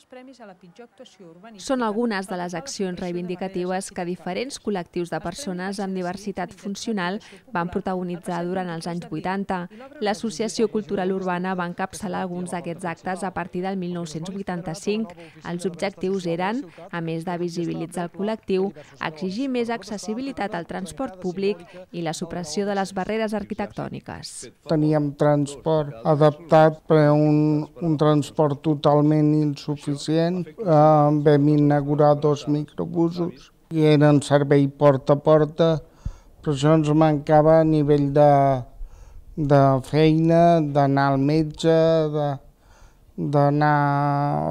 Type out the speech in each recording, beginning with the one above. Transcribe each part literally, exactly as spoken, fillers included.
premis a la pitjor actuació urbanística. Són algunes de les accions reivindicatives que diferents col·lectius de persones amb diversitat funcional van protagonitzar durant els anys vuitanta. L'Associació Cultural Urbana va encapçalar alguns d'aquests actes a partir del mil nou-cents vuitanta-cinc. Els objectius eren, a més de visibilitzar el col·lectiu, exigir més accessibilitat al transport públic i la supressió de les barreres arquitectòniques. Teníem transport adaptat per a un, un transport totalment insuficient. Eh, vam inaugurar dos microbusos i eren servei porta a porta, però això ens mancava a nivell de, de feina, d'anar al metge, de, d'anar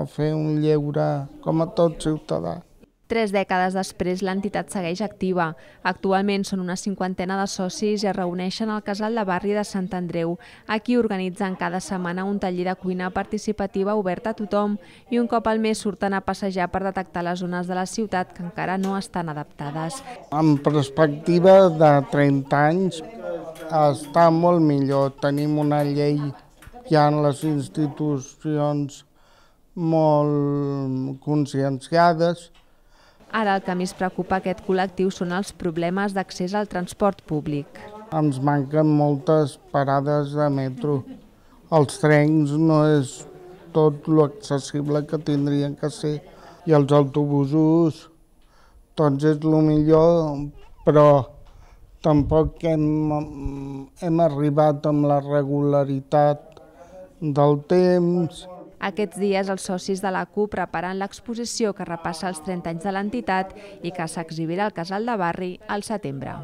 a fer un lleure com a tot ciutadà. Tres dècades després, l'entitat segueix activa. Actualment són una cinquantena de socis i es reuneixen al Casal de Barri de Sant Andreu. Aquí organitzen cada setmana un taller de cuina participativa obert a tothom i un cop al mes surten a passejar per detectar les zones de la ciutat que encara no estan adaptades. En perspectiva de trenta anys està molt millor. Tenim una llei ja en les institucions molt conscienciades. Ara el que més preocupa aquest col·lectiu són els problemes d'accés al transport públic. Ens manquen moltes parades de metro. Els trens no és tot l'accessible que tindrien que ser. I els autobusos, tots és el millor, però tampoc hem, hem arribat amb la regularitat del temps. Aquests dies els socis de la C U preparen l'exposició que repassa els trenta anys de l'entitat i que s'exhibirà al Casal de Barri al setembre.